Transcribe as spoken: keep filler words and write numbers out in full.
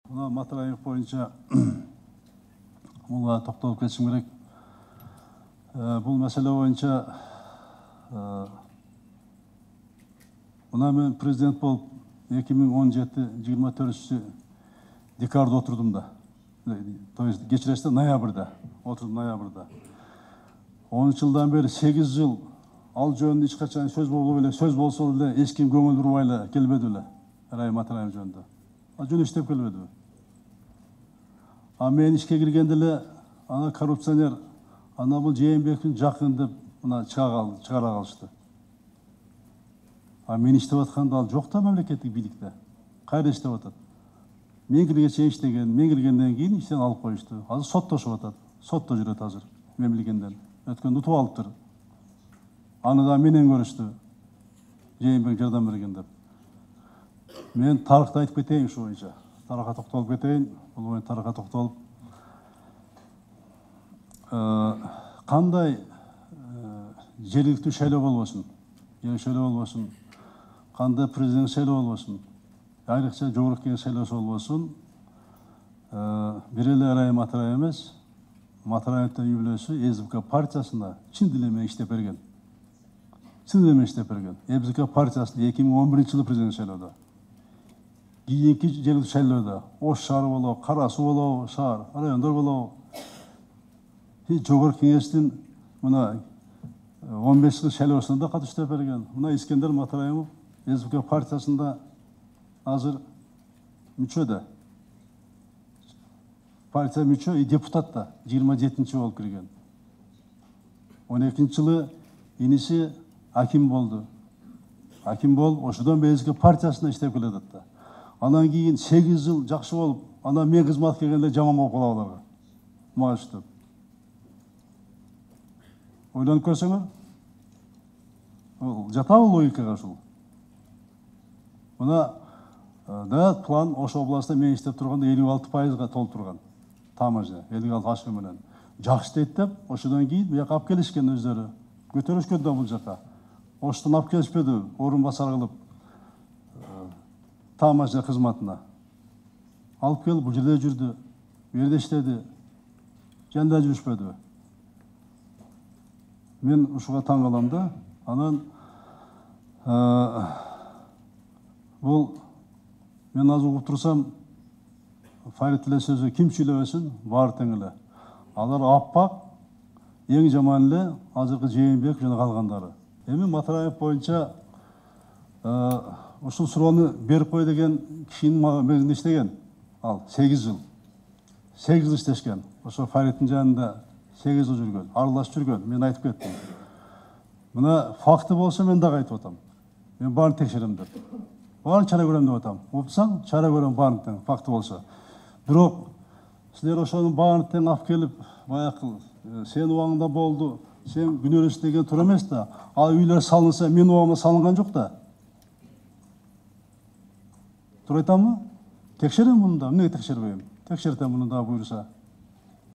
Мына Матараев боюнча буга токтолуп кетишим керек. Бул маселе боюнча мына мен президент болуп эки миң он жети жыйырма төртүнчү декабрда отурдум да. То есть кечиресиз, ноябрда отурдум, ноябрда. он жылдан бери сегиз жыл ал жөнүндө эч качан сөз болбой эле, сөз болсо деле эч ким көңүл бурбай эле келбеди эле. Райым Матараев жөнүндө. Ал жөн иштеп келбедиби? А мен ишке киргенде эле ана коррупционер, ана бул Жээнбековдун жакын деп мына чыга калышты. А мен иштеп атканда ал жок да мамлекеттик бийликте. Кайда иштеп атат? Мен киргенче иштеген, мен киргенден кийин иштен алып коюшту. Азыр соттошуп атат. Сотто жүрөт азыр. Мен билгенден. Өткөндө утуп алыптыр. Аны да менен көрүштү. Жээнбеков жардам берген деп. Мен тарыхты айтып кетейин ушу боюнча. Тарыхка токтолуп кетейин. Бул боюнча тарыхка токтолуп. Кандай жергиликтүү шайлоо болбосун, жер шайлоо болбосун, кандай президент шайлоо болбосун, айрыкча жогорку кеңеш шайлоосу болбосун, бир эле Райым Матараев эмес, Матараевдин үй бүлөсү ЭСБК партиясына чын диле менен иштеп берген. Чын диле менен иштеп берген. ЭСБК партиясында эки миң он биринчи жылы президент шайлоодо. Кийинки жергиликтүү шайлоодо Ош шаары болобу, Кара Суу болобу, шаар, райондор болобу. Жогорку кеңештин мына он беш жыл шайлоосуна да катыштып берген. Мына Искендер Матараев ЭСБК партиясында азыр мүчө да. Партия мүчө и депутат да жыйырма жетинчи болуп кирген. он экинчи жылы иниси аким болду. Аким болуп, ошодон бери ЭСБК партиясында иштеп келатат да. Андан кийин сегиз жыл жакшы болуп, анан мен кызматка келгенде жаман болуп калып аларга. Мааштып. Ойлонуп көрсөңөр, жатабы логикага ушул. Мына да план Ош областында мен иштеп турганда элүү алты пайызга толтурган. Тамажа, элүү алты ашкы менен. Жакшы дейт деп, ошодон кийин буяка алып келишкен өздөрү. Көтөрүшкөн да бул жака. Оштон алып келишпеди, орун басар кылып Тамажа кызматына. Алып келип бул жерде жүрдү, бу жерде иштеди. Жанда жүрүшпөдү. Мен ушуга таң калам да. Анан бул мен азыр угуп турсам, Фарид эле сөзү ким сүйлөбөсүн, баары тең эле. Алар аппак, эң жаман эле азыркы Жээнбеков жана калгандары. Эми Матараев боюнча ушул суроону берип кой деген кишинин мегинде иштеген. Ал сегиз жыл. сегиз жыл иштешкен. Ошо Фаридтин жанында сегиз жыл жүргөн, аралашып жүргөн. Мен айтып кеттим. Мына факты болсо мен дагы айтып атам. Мен баарын текшерем деп. Баарын чара көрөм деп атам. Упсаң, чара көрөм баарын тең, факты болсо. Бирок силер ошонун баарын тең алып келип, баягы сен убагыңда болду, сен күнөөлөс деген туура эмес да. Ал үйлөр салынса, мен убагымда салынган жок да. Туура айтамбы? Текшерем муну да, эмнеге текшербейм? Текшертем муну да буюрса.